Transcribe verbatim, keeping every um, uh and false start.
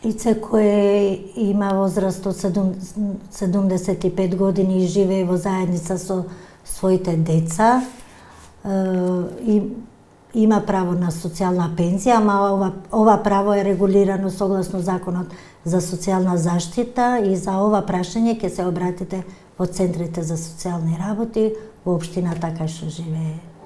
Лице кое има возраст од седумдесет и пет години и живее во заедница со своите деца, и има право на социјална пензија, ама ова, ова право е регулирано согласно Законот за социјална заштита, и за ова прашање ќе се обратите во центрите за социјални работи во општината кај што живее